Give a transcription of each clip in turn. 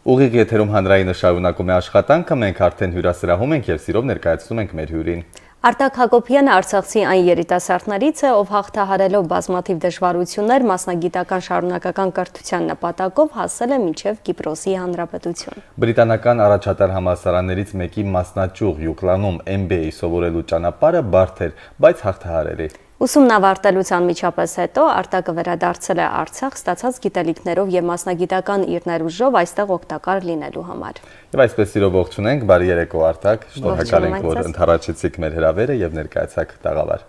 Ուղիղ եթերում հանրայինը շարունակում է աշխատանքը, մենք արդեն հյուրասրահում ենք և սիրով ներկայացնում ենք մեր հյուրին։ Արտակ Հակոբյանը Արցախցի այն երիտասարդներից է, ով հաղթահարելով բազմաթիվ դժվարություններ մասնագիտական շարունակական կրթության նպատակով հասել է մինչև Կիպրոսի Հանրապետություն։ Բրիտանական առաջատար համալսարաններից մեկի մասնաճյուղ Յուկլանում MBA սովորելու ճանապարհը բարդ էր, բայց հաղթահարելի։ Ուսումն ավարտելուց անմիջապես հետո Արտակը վերադարձել է Արցախ ստացած գիտելիքներով և մասնագիտական իր ներուժով այստեղ օգտակար լինելու համար։ Եվ այսպես սիրով ողջունենք, բարի երեկո Արտակ, շնորհակալ ենք, որ ընդառաջեցիք մեր հրավերը եւ ներկայացաք տաղավար։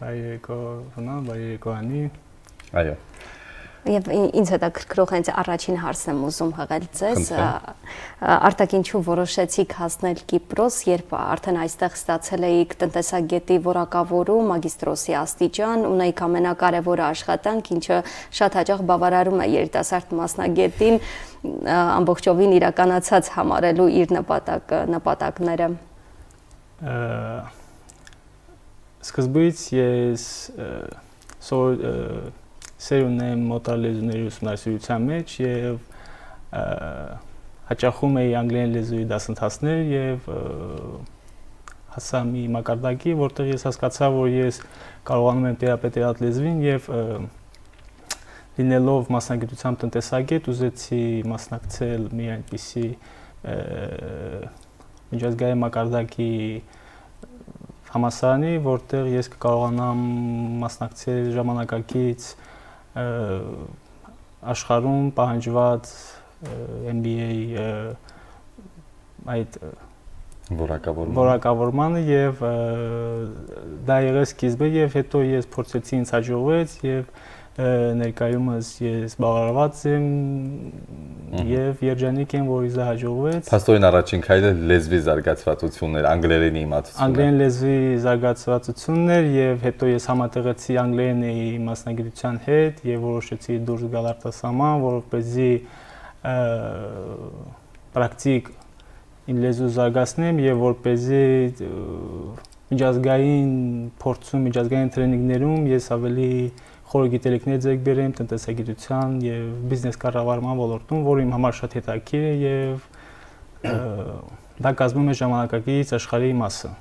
Բարի երեկո Հունա, բարի երեկո Անի։ Այո։ Եվ ինձ հետաքրքրող հենց առաջին հարցն եմ ուզում հղել ձեզ, Արտակ, ինչու որոշեցիք հասնել Կիպրոս, երբ արդեն այստեղ ստացել էիք տնտեսագետի որակավորում, մագիստրոսի աստիճան, ունեիք ամենակարևորը աշխատանք, ինչը շատ հաճախ բավարարում է երիտասարդ մասնագետին ամբողջովին իրականացած համարելու իր նպատակները։ Սկզբից ես սեր ունեմ մոտար լեզուների ուսումնասիրության մեջ և հաճախում էի անգլերեն լեզուի դասընթացներ և հասա մի մակարդակի, որտեղ ես հասկացա, որ ես կարողանում եմ տերապետել այդ լեզվին և լինելով մասնագիտությամբ տնտեսագետ ուզեցի մասնակցել մի այնպիսի միջազգային մակարդակի համալսարանի, որտեղ ես կկարողանամ մասնակցել ժամանակակից աշխարհում պահանջված MBA այդ որակավորմանը և դա եղեց սկիզբը և հետո ես փորձեցի ինձ հաջողվեց և ներկայումս ես բավարարված եմ և երջանիկ եմ, որ ինձ հաջողվեց։ Փաստորեն առաջին քայլը լեզվի զարգացվածությունն էր, անգլերենի իմացությունը։ Անգլերեն լեզվի զարգացվածությունն էր և հետո ես համատեղեցի անգլերենի մասնագիտության հետ և որոշեցի դուրս գալ արտասահման, որպեսզի պրակտիկ իմ լեզու զարգացնեմ և որպեսզի միջազգային փորձում, միջազգային տրեյնինգներում ես ավելի խորը գիտելիքներ ձեռք բերեմ տնտեսագիտության և բիզնես կառավարման ոլորտում, որը իմ համար շատ հետաքրքիր է և դա կազմում է ժամանակակից աշխարհի մասը։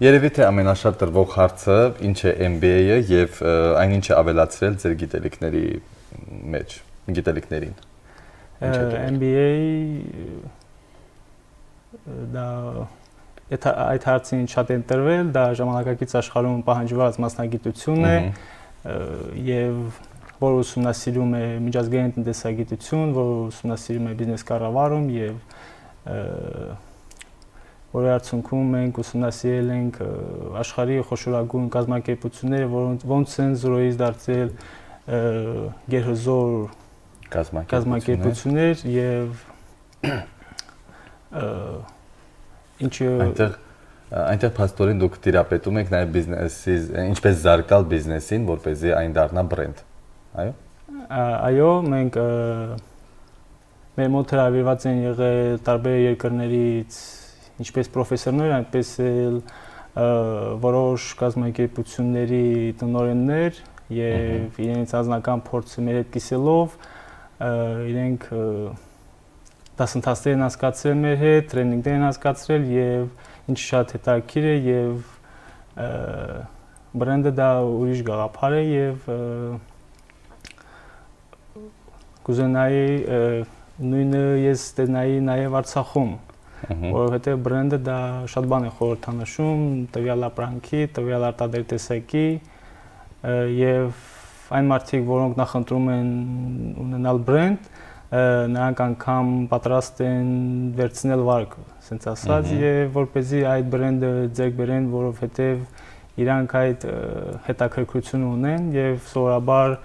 Երևի թե ամենաշատ տրվող հարցը ինչ է MBA-ը և այն ինչ է ավելացրել ձեր գիտելիքների մեջ, գիտելիքներին։ MBA դա այդ հարցին շատ են տրվել, դա ժամանակակից աշխարհում պահանջված մասնագիտություն է և որ ուսումնասիրում է միջազգային տնտեսագիտություն, որ ուսումնասիրում է բիզնես կառավարում և որի արդյունքում մենք ուսումնասիրել ենք աշխարհի խոշորագույն կազմակերպությունները, որոնց են զրոյից դարձել գերհզոր կազմակերպություններ և ինչը Այնտեղ փաստորեն դուք տիրապետում եք նաև բիզնեսի, ինչպես զարգալ բիզնեսին, որպեսզի այն դառնա բրենդ, այո։ Այո, մենք մեր մոտ հրավիրված են եղել տարբեր երկրներից ինչպես պրոֆեսորներ, այնպես էլ որոշ կազմակերպությունների տնօրեններ և իրենց անձնական փորձը մեր հետ կիսելով իրենք դասընթացներ են անցկացրել մեր հետ, տրեյնինգներ են անցկացրել և ինչ շատ հետաքրքիր է և բրենդը դա ուրիշ գաղափար է և կուզենայի նույնը ես տեսնայի նաև Արցախում, որովհետև բրենդը դա շատ բան է խորհրդանշում, տվյալ ապրանքի, տվյալ արտադրյալ տեսակի և այն մարդիկ, որոնք նախընտրում են ունենալ բրենդ, նրանք անգամ պատրաստ են վերցնել վարկը, ասենց ասած, և որպեսզի այդ բրենդը ձեռք բերեն, որովհետև իրանք այդ հետաքրքրությունը ունեն և սովորաբար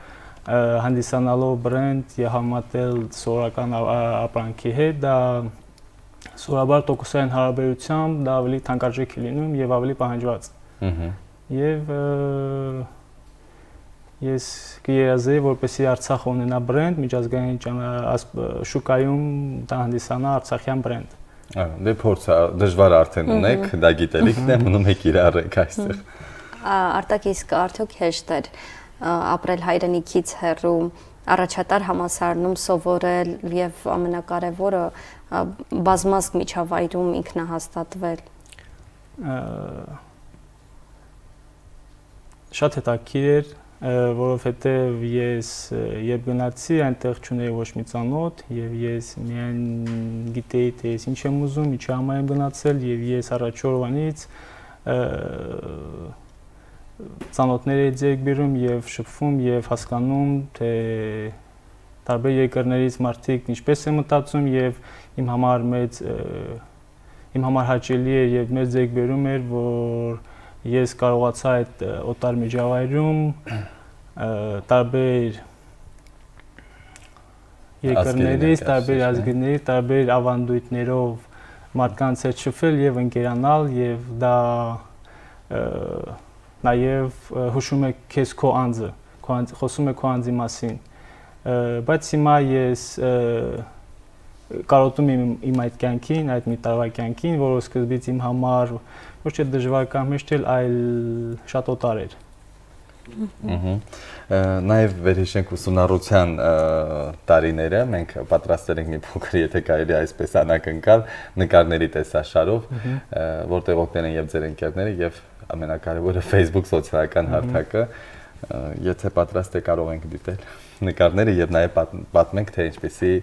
հանդիսանալով բրենդ և համատել սովորական ապրանքի հետ, դա սովորաբար տոկոսային հարաբերությամբ դա ավելի թանկարժեք է լինում և ավելի պահանջված։ Եվ ես կերազեի, որպեսզի Արցախը ունենա բրենդ, միջազգային շուկայում դա հանդիսանա արցախյան բրենդ։ Դե փորձը դժվար արդեն ունեք, դա գիտելիքն է, մնում եք իրարեք այստեղ։ Արտակ, իսկ արդյոք հեշտ էր ապրել հայրենիքից հեռու առաջատար համալսարանում սովորել եւ ամենակարևորը բազմազգ միջավայրում ինքնահաստատվել։ Շատ հետաքրքիր էր, որովհետեւ ես երբ գնացի, այնտեղ չունեի ոչ մի ծանոթ եւ ես միայն գիտեի թե ես ինչ եմ ուզում, ինչի համար եմ գնացել եւ ես առաջ օրվանից ծանոթներ էի ձեռք բերում եւ շփվում եւ հասկանում թե տարբեր երկրներից մարդիկ ինչպես են մտածում եւ իմ համար հաճելի է եւ մեծ ձեռք բերում էր, որ ես կարողացա այդ օտար միջավայրում տարբեր երկրներից, տարբեր ազգներից, տարբեր ավանդույթներով մարդկանց հետ շփվել եւ ընկերանալ եւ դա նաեւ հուշում է քեզ քո անձը, խոսում է քո անձի մասին, բայց հիմա ես կարոտում եմ իմ այդ կյանքին, այդ մի տարվա կյանքին, որը սկզբից իմ համար ոչ թե դժվար կամ հեշտ էր, այլ շատ օտար էր։ Նաև վերհիշենք ուսումնառության տարիները, մենք պատրաստել ենք մի փոքր, եթե կարելի այսպես անակնկալ, նկարների տեսաշարով, որտեղ օգնել են եւ ձեր ընկերները եւ ամենակարևորը Facebook սոցիալական հարթակը, եթե պատրաստ եք կարող ենք դիտել նկարները եւ նաեւ պատմենք թե ինչպեսի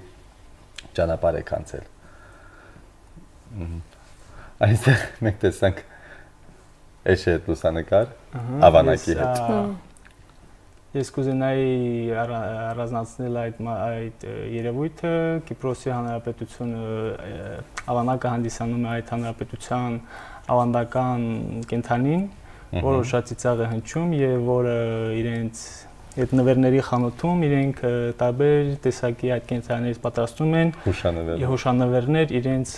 ճանապարհ եք անցել։ Այստեղ մենք տեսանք Էշի հետ լուսանկար, ավանակի հետ։ Ես կուզենայի առանձնացնել այդ երևույթը, Կիպրոսի Հանրապետությունը ավանակը հանդիսանում է այդ հանրապետության ավանդական կենդանին, որը շատ ծիծաղ է հնչում եւ որը իրենց այդ նվերների խանութում իրենք տարբեր տեսակի այդ կենդանիներից պատրաստում են հուշանվերներ իրենց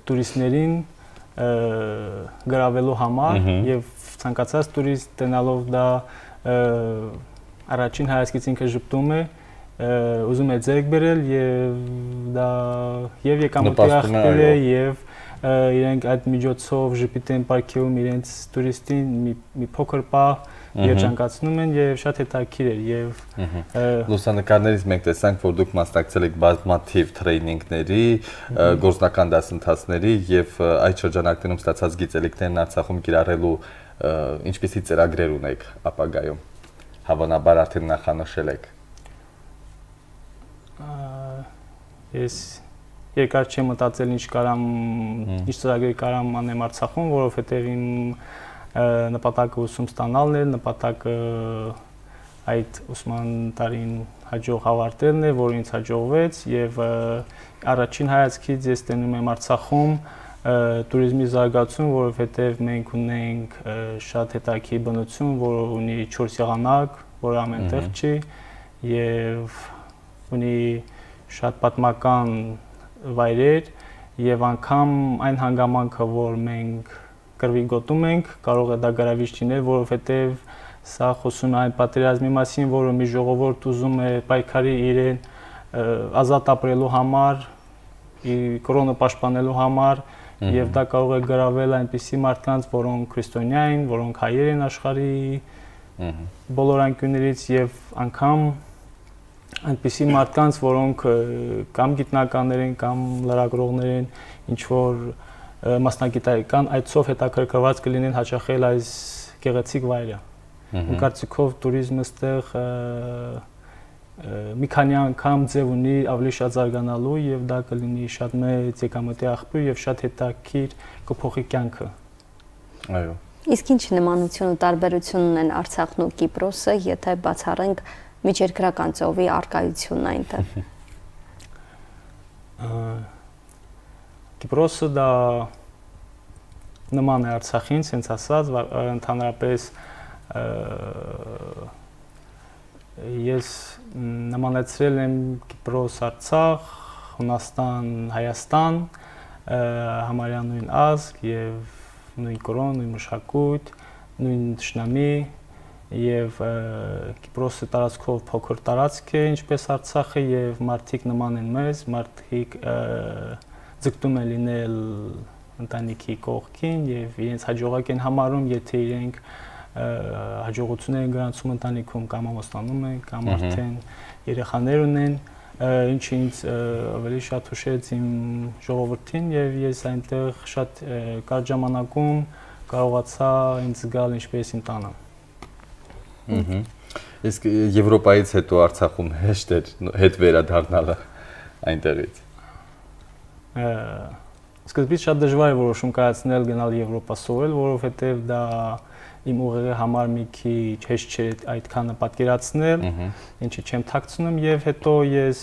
տուրիստներին գրավելու համար եւ ցանկացած տուրիստ տենալով դա առաջին հայացքից ինքը ժպտում է, ուզում է ձեռք բերել եւ դա եւ եկամուտի աղբյուր է եւ իրենք այդ միջոցով ժպիտեն պարգևում իրենց տուրիստին մի փոքր պահ երջանկացնում են եւ շատ հետաքրքիր է եւ լուսանկարներից մենք տեսանք, որ դուք մասնակցել եք բազմաթիվ տրեյնինգների, գործնական դասընթացների եւ այդ շրջանակներում ստացած գիտելիքներն Արցախում կիրառելու ինչպիսի ծրագրեր ունեք ապագայում։ Հավանաբար արդեն նախանշել եք։ Ես երկար չեմ մտածել ինչ ծրագրեր կարամ անեմ Արցախում, որովհետեւ իմ նպատակը ուսում ստանալն է, նպատակը այդ ուսման տարին հաջող ավարտելն է, որ ինձ հաջողվեց եւ առաջին հայացքից ես տենում եմ Արցախում տուրիզմի զարգացում, որովհետեւ մենք ունենք շատ հետաքրքիր բնություն, որը ունի 4 եղանակ, որը ամենտեղ չի եւ ունի շատ պատմական վայրեր եւ անգամ այն հանգամանքը, որ մենք կրվի գոտում ենք, կարող է դա գրավիչ լինել, որովհետև սա խոսում է այն պատերազմի մասին, որը մի ժողովուրդ ուզում է պայքարի իրեն ազատ ապրելու համար, կրոնը պաշտպանելու համար, եւ դա կարող է գրավել այնպիսի մարդկանց, որոնք քրիստոնյա են, որոնք հայեր են աշխարհի բոլոր անկյուններից եւ անգամ այնպիսի մարդկանց, որոնք կամ գիտնականներ են, կամ լրագրողներ են, ինչ որ մասնագիտական այցով հետաքրքրված կլինեն հաճախել այս գեղեցիկ վայրը։ Ու կարծիքով տուրիզմը ստեղ մի քանի անգամ ձև ունի ավելի շատ զարգանալու եւ դա կլինի շատ մեծ եկամտի աղբյուր եւ շատ հետաքրքիր կփոխի կյանքը։ Այո։ Իսկ ինչ նմանություն ու տարբերություն ունեն Արցախն ու Կիպրոսը, եթե բացառենք միջերկրական ծովի արկայությունն այնտեղ։ Կիպրոսը դա նման է Արցախին, ցենց ասած, ընդհանրապես ես նմանեցրել եմ Կիպրոս, Արցախ, Հունաստան, Հայաստան, համարյա նույն ազգ եւ նույն կրոն, նույն մշակույթ, նույն թշնամի եւ Կիպրոսը տարածքով փոքր տարածք է, ինչպես Արցախը եւ մարդիկ նման են մեզ, մարդիկ ձգտում են լինել ընտանիքի կողքին եւ իրենց հաջողակ են համարում, եթե իրենք հաջողություններ են գրանցում ընտանիքում կամ ամուսնանում են կամ արդեն երեխաներ ունեն, ինչը ինձ ավելի շատ հուշեց իմ ժողովրդին եւ ես այնտեղ շատ կարճ ժամանակում կարողացա ինձ զգալ ինչպես իմ տանը։ Իսկ Եվրոպայից հետո Արցախում հեշտ էր հետ վերադառնալը այնտեղից։ Սկզբից շատ դժվար է որոշում կայացնել գնալ Եվրոպա սովորել, որովհետև դա իմ ուղեղի համար մի քիչ հեշտ չէր այդքանը պատկերացնել, ինչի չեմ թաքցնում եւ հետո ես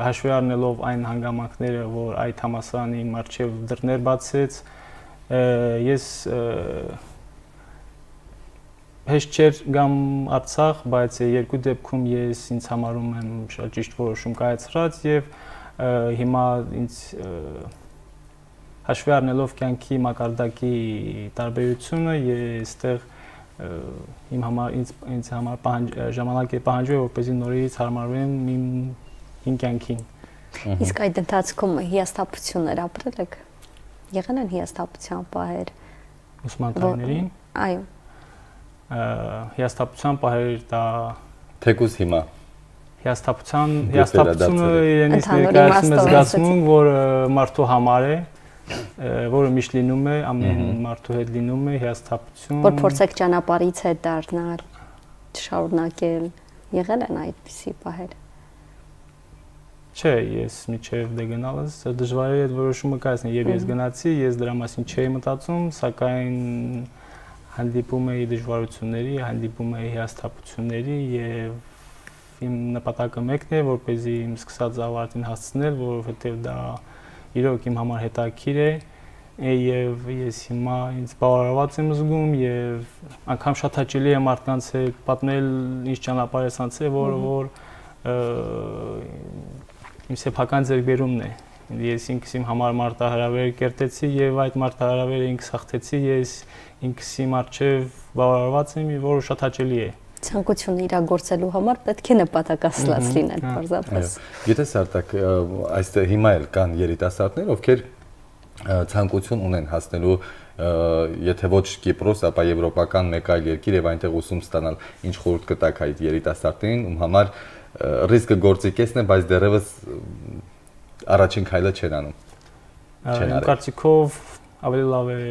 հաշվի առնելով այն հանգամանքները, որ այդ համալսարանի մարտչև դռներ բացեց, ես հեշտ չէր գամ Արցախ, բայց երկու դեպքում ես ինձ համարում եմ շատ ճիշտ որոշում կայացրած եւ հիմա ինձ հաշվի առնելով կյանքի մակարդակի տարբերությունը ես այդտեղ իմ համար ինձ համար ժամանակ է պահանջվել որպեսզի նորից հարմարվեմ իմ կյանքին։ Իսկ այդ ընթացքում հիասթափություններ ապրել եք։ Եղել են հիասթափության պահեր։ Ուսման տարիներին։ Այո։ Հիասթափության պահեր դա թեկուզ հիմա հիասթափությունը իրենից ներկայացնում է զգացմունք, որ մարդու համար է, որը միշտ լինում է, ամեն մարդու հետ լինում է հիասթափություն։ Որ փորձեք ճանապարհից հետ դառնալ, շարունակել, եղել են այդպիսի պահեր։ Չէ, ես միջև դե գնալս դժվար է այդ որոշումը կայացնել, եւ ես գնացի, ես դրա մասին չէի մտածում, սակայն հանդիպում էի դժվարությունների, հանդիպում էի հիասթափությունների եւ իմ նպատակը մեկն է, որպեսզի իմ սկսած ավարտին հասցնել, որովհետեւ դա իրոք իմ համար հետաքրքիր է եւ ես հիմա ինձ բավարարված եմ զգում եւ անգամ շատ հաճելի է մարդկանց հետ պատմել ինչ ճանապարհ ես անցել, որ իմ սեփական ձեռքբերումն է։ Ես ինքս իմ համար մարտահրավեր կերտեցի եւ այդ մարտահրավերը ինքս հաղթեցի, ես ինքս իմ առջև բավարարված եմ, որը շատ հաճելի է։ Ցանկությունը իրագործելու համար պետք է նպատակասլաց լինել, պարզապես։ Գիտես Արտակ, այստեղ հիմա էլ կան երիտասարդներ, ովքեր ցանկություն ունեն հասնելու եթե ոչ Կիպրոս, ապա եվրոպական մեկ այլ երկիր եւ այնտեղ ուսում ստանալ, ինչ խորհուրդ կտաք այդ երիտասարդներին, ում համար ռիսկը գործիքեսն է, բայց դեռևս առաջին քայլը չեն անում։ Իմ կարծիքով ավելի լավ է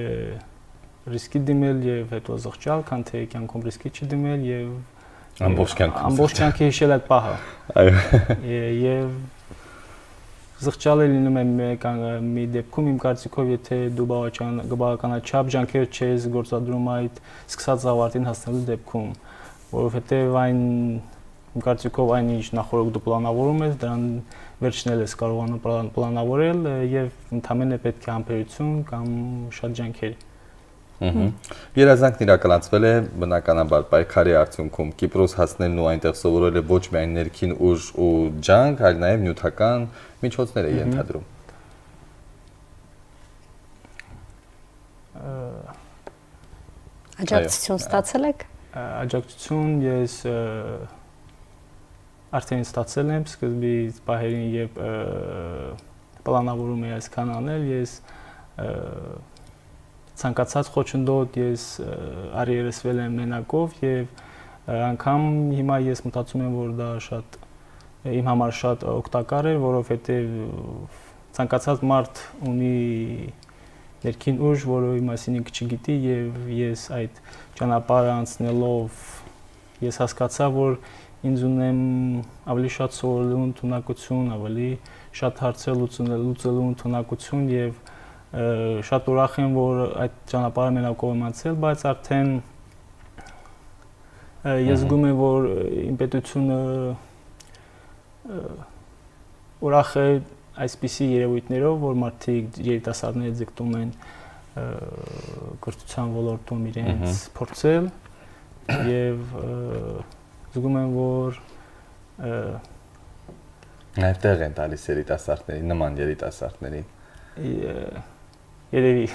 ռիսկի դիմել եւ հետո զղջալ, քան թե կյանքում ռիսկի չդիմել եւ ամբողջ կյանքը հիշել այդ պահը։ Այո։ Եվ զղջալը լինում է մի դեպքում իմ կարծիքով, եթե դու բավականաչափ ջանքեր չես գործադրում այդ սկսած ավարտին հասնելու դեպքում, որովհետեւ այն իմ կարծիքով այն ինչ նախորդ դու պլանավորում ես, դրան վերջն ես կարողանում պլանավորել եւ ընդհանրապես պետք է համբերություն կամ շատ ջանքեր։ Երազանքն իրականացվել է բնականաբար պայքարի արդյունքում Կիպրոս հասնելն ու այնտեղ սովորելը ոչ միայն ներքին ուժ ու ջանք, այլ նաև նյութական միջոցներ է ենթադրում։ Աջակցություն ստացել եք։ Աջակցություն ես արդեն ստացել եմ սկզբից պահերին, երբ պլանավորում էի այսքան անել, ես ցանկացած խոչընդոտ ես արիերեսվել եմ մենակով եւ անգամ հիմա ես մտածում եմ, որ դա շատ իմ համար շատ օգտակար է, որովհետեւ ցանկացած մարդ ունի ներքին ուժ, որը մասին ինքը չգիտի եւ ես այդ ճանապարհը անցնելով ես հասկացա, որ ինձ ունեմ ավելի շատ սովորելու ընդունակություն, ավելի շատ հարցեր լուծելու ընդունակություն եւ շատ ուրախ եմ, որ այդ ճանապարհը մենակով եմ անցել, բայց արդեն ես զգում եմ, որ իմ պետությունը ուրախ է այսպիսի երևույթներով, որ մարդիկ երիտասարդները ձգտում են կրթության ոլորտում իրենց փորձել եւ զգում եմ, որ նաև տեղ են տալիս երիտասարդներին, նման երիտասարդներին։ Երևի։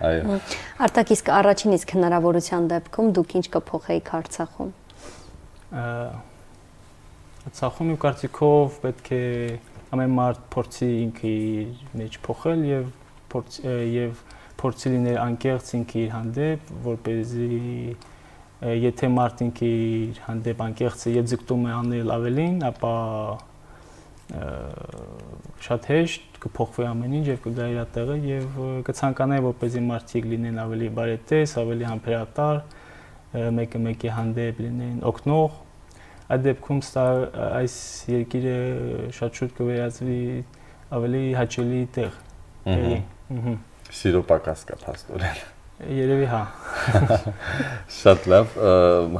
Այո։ Արտակ, իսկ առաջին իսկ հնարավորության դեպքում դուք ինչ կփոխեիք Արցախում։ Արցախում իմ կարծիքով պետք է ամեն մարդ փորձի ինքը իր մեջ փոխել եւ փորձի լինել անկեղծ ինքը իր հանդեպ, որպեսզի եթե մարդինք իր հանդեպ անկեղծ է եւ ձգտում է անել ավելին, ապա շատ հեշտ կփոխվի ամեն ինչ եւ կգա իր տեղը եւ կցանկանայի որպեսզի մարդիկ լինեն ավելի բարետես, ավելի համբերատար, մեկը մեկի հանդեպ լինեն օգնող, այդ դեպքում այս երկիրը շատ շուտ կվերածվի ավելի հաճելի տեղ։ Սիրո պակաս կա փաստորեն։ Երևի հա։ Շատ լավ,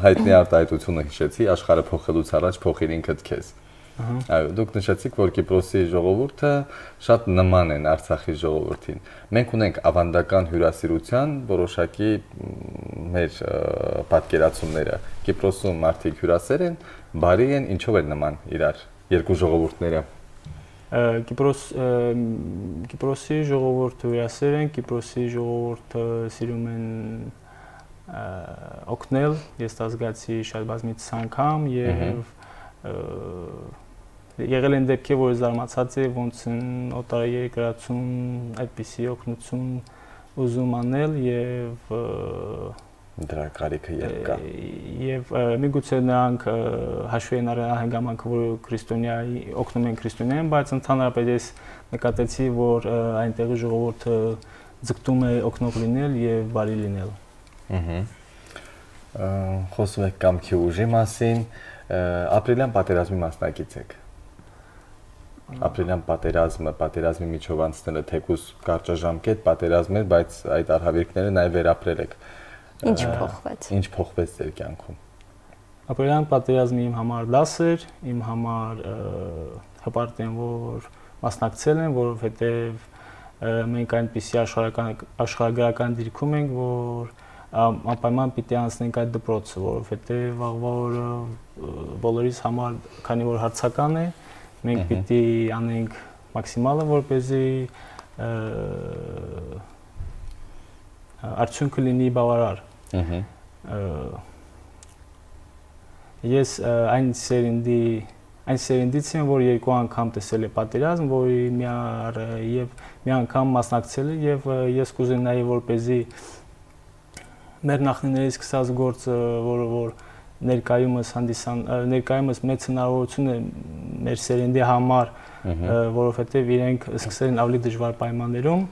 հայտնի արտահայտությունը հիշեցի, աշխարհը փոխելուց առաջ փոխիր ինքդ քեզ։ Այո, դուք նշեցիք, որ Կիպրոսի ժողովուրդը շատ նման են Արցախի ժողովրդին։ Մենք ունենք ավանդական հյուրասիրության որոշակի մեր պատկերացումները։ Կիպրոսում մարդիկ հյուրասեր են, բարի են, ինչով են նման իրար երկու ժողովուրդները։ Կիպրոսի ժողովուրդը հյուրասեր են, Կիպրոսի ժողովուրդը սիրում են օգնել, ես դա զգացի շատ բազմիցս անգամ եւ եղել են դեպքեր, որ զարմացած է, ոնց են օտարերկրացում այդպիսի օգնություն ուզում անել եւ դրա կարիքը երբ կա։ Եվ միգուցե նրանք հաշվի են առել հանգամանքը, որ քրիստոնյայի օգնում են քրիստոնյային, բայց ընդհանրապես ես նկատեցի, որ այնտեղի ժողովուրդը ձգտում է օգնող լինել եւ բարի լինել։ Խոսում եք կամքի ուժի մասին, ապրիլյան պատերազմի մասնակից եք։ Ապրիլյան պատերազմի միջով անցնելը թեկուզ կարճաժամկետ պատերազմ էր, բայց այդ արհավիրքները նաև վերապրել եք։ Ինչ փոխվեց։ Ինչ փոխվեց ձեր կյանքում։ Ապրիլյան պատերազմը իմ համար դաս էր, իմ համար հպարտ եմ, որ մասնակցել եմ, որովհետև մենք այնպիսի աշխարհագրական դիրքում ենք, որ անպայման պիտի անցնենք այդ դպրոցը, որովհետև վաղվա օրը բոլորիս համար, քանի որ հարցական է, մենք պիտի անենք մաքսիմալը, որպեսզի արդյունքը լինի բավարար։ Ես այն սերնդից եմ, որ երկու անգամ տեսել է պատերազմ, որի մի անգամ մասնակցել է եւ ես կուզենայի, որպեսզի մեր նախնիներից սկսած գործը, որ ներկայումս մեծ հնարավորություն է մեր սերնդի համար, որովհետև իրենք սկսել են ավելի դժվար պայմաններում,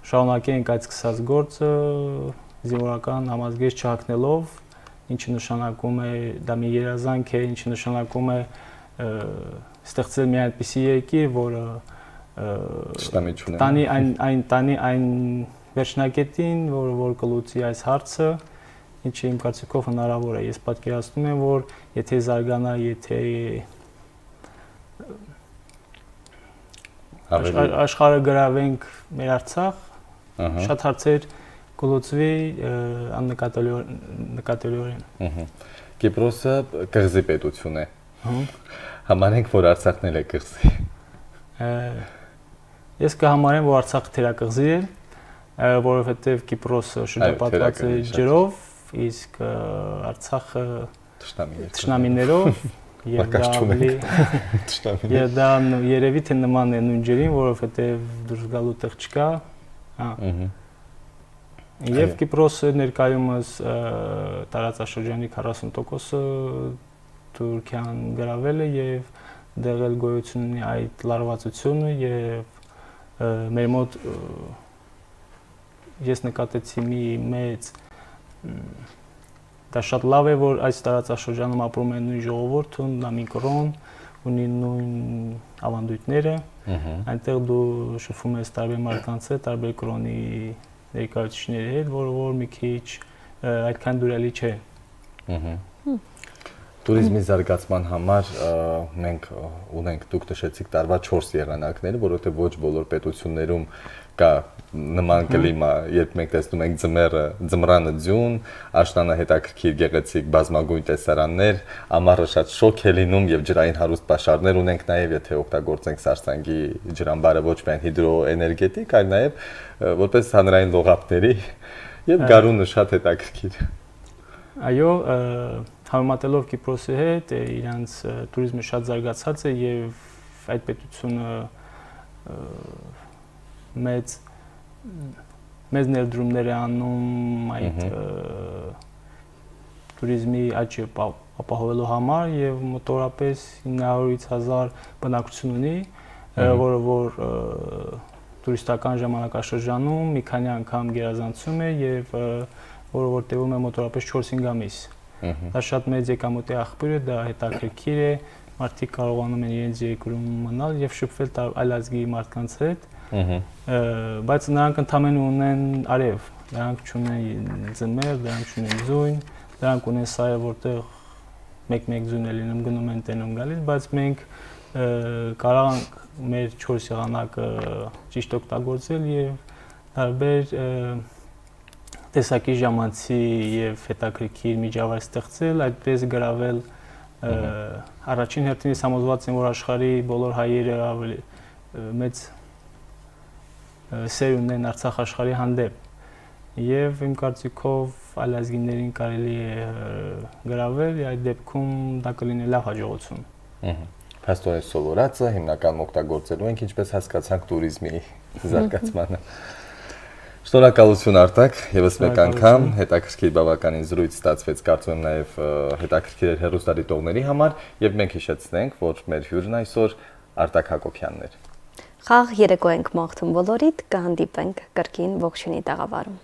շարունակենք այդ սկսած գործը զինվորական համազգեստ չհագնելով, ինչը նշանակում է դա մի երազանք է, ինչը նշանակում է ստեղծել մի այնպիսի երկիր, որը տանի այն վերջնակետին, որ կլուծի այս հարցը, ինչը իմ կարծիքով հնարավոր է։ Ես պատկերացնում եմ, որ եթե զարգանա, եթե աշխարհը գրավենք մեր Արցախ, շատ հարցեր կլուծվի աննկատելիորեն։ Կիպրոսը կղզի պետություն է։ Համարենք, որ Արցախն էլ է կղզի։ Ես կհամարեմ, որ Արցախը թերակղզի է, որովհետև Կիպրոսը շրջապատված է ջրով, իսկ Արցախը թշնամիներով եւ դա երևի թե նման է նույն ջրին, որովհետեւ դուրս գալու տեղ չկա, Եվ Կիպրոսը ներկայումս տարածաշրջանի 40%-ը Թուրքիան գրավել է եւ դեղել գոյություն ունի այդ լարվածությունը եւ մեր մոտ ես նկատեցի մի մեծ դա շատ լավ է որ այս տարածաշրջանում ապրում են նույն ժողովուրդը, նույն կրոն, ունի նույն ավանդույթները, այնտեղ դու շփվում ես տարբեր մարդկանց հետ, տարբեր կրոնի ներկայացուցիչների հետ, որ մի քիչ այդքան դուրելի չէ։ Տուրիզմի զարգացման համար մենք ունենք, դուք նշեցիք տարվա 4 եղանակները, որովհետև ոչ բոլոր պետություններում կա նման կլիմա, երբ մենք տեսնում ենք ձմռանը ձյուն, աշնանը հետաքրքիր գեղեցիկ բազմագույն տեսարաններ, ամառը շատ շոգ է լինում եւ ջրային հարուստ պաշարներ ունենք նաեւ, եթե օգտագործենք Սարսանգի ջրամբարը ոչ միայն հիդրոէներգետիկ, այլ նաեւ որպես հանրային լողափների եւ գարունը շատ հետաքրքիր։ Այո, համեմատելով Կիպրոսի հետ, իրանց տուրիզմը շատ զարգացած է եւ այդ պետությունը մեծ ներդրումներ է անում այդ туrizմի աճը ապահովելու համար եւ մոտավորապես 900-ից 1000 բնակություն ունի, որը որ տուրիստական ժամանակաշրջանում մի քանի անգամ գերազանցում է եւ որը որ տևում է մոտավորապես 4-5 ամիս։ Դա շատ մեծ եկամուտի աղբյուր է, դա հետաքրքիր է, մարդիկ կարողանում են իրենց երկրում մնալ եւ շփվել այլ ազգի մարդկանց հետ։ Բայց նրանք ընդամենը ունեն արև, նրանք չունեն ձմեռ, նրանք չունեն ձյուն, նրանք ունեն սայը, որտեղ մեկ-մեկ ձյուն է լինում, գնում են տենում գալիս, բայց մենք կարող ենք մեր 4 եղանակը ճիշտ օգտագործել եւ տարբեր տեսակի ժամանցի եւ հետաքրքիր միջավայր ստեղծել, այդպես գրավել առաջին հերթին համոզված եմ, որ աշխարհի բոլոր հայերը ավելի մեծ սեր ունեն Արցախ աշխարհի հանդեպ եւ իմ կարծիքով այլ ազգիներին կարելի է գրավել, այդ դեպքում դա կլինի լավ հաջողություն։ Փաստորեն սովորածը հիմնականում օգտագործելու ենք, ինչպես հասկացանք туриզմի զարգացմանը։ Շնորհակալություն Արտակ, եւս մեկ անգամ հետաքրքիր բավականին զրույց ստացվեց, կարծում եմ նաեւ հետաքրքիր էր հեռուստադիտողների համար եւ մենք հիշեցնենք, որ մեր հյուրն այսօր Արտակ Հակոբյանն էր։ Խաղ երեկո ենք մաղթում բոլորիդ, կհանդիպենք կրկին ողջունի տաղավարում։